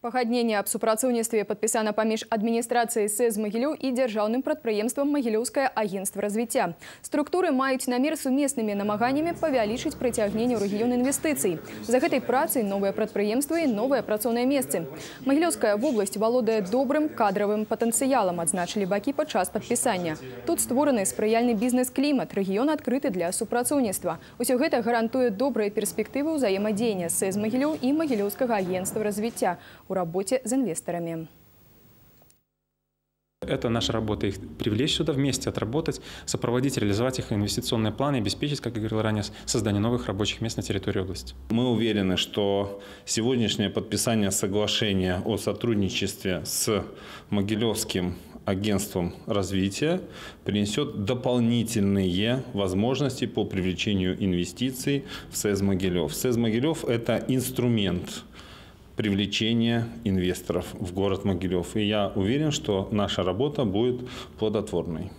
Пагадненне аб супрацоўніцтве падпісана паміж адміністрацыяй СЭЗ Магілёў і дзяржаўным прадпрыемствам Магілёўскае агентства развіцця. Структуры маюць намер сумеснымі намаганнямі павялічыць прыцягненне ў рэгіён інвестыцый. За гэтай працай новыя прадпрыемствы і новыя працоўныя месцы. Магілёўская вобласць валодае добрым кадравым патэнцыялам, адзначылі бакі падчас падпісання. Тут створаны спрыяльны бізнес-клімат, рэгіён адкрыты для супрацоўніцтва. Усё гэта гарантуе добрыя перспектывы ўзаемадзеяння СЭЗ Магілёў і Магілёўскага агентства развіцця в работе с инвесторами. Это наша работа, их привлечь сюда вместе, отработать, сопроводить, реализовать их инвестиционные планы, обеспечить, как я говорил ранее, создание новых рабочих мест на территории области. Мы уверены, что сегодняшнее подписание соглашения о сотрудничестве с Могилевским агентством развития принесет дополнительные возможности по привлечению инвестиций в СЭЗ Могилев. СЭЗ Могилев – это инструмент привлечения инвесторов в город Могилев. И я уверен, что наша работа будет плодотворной.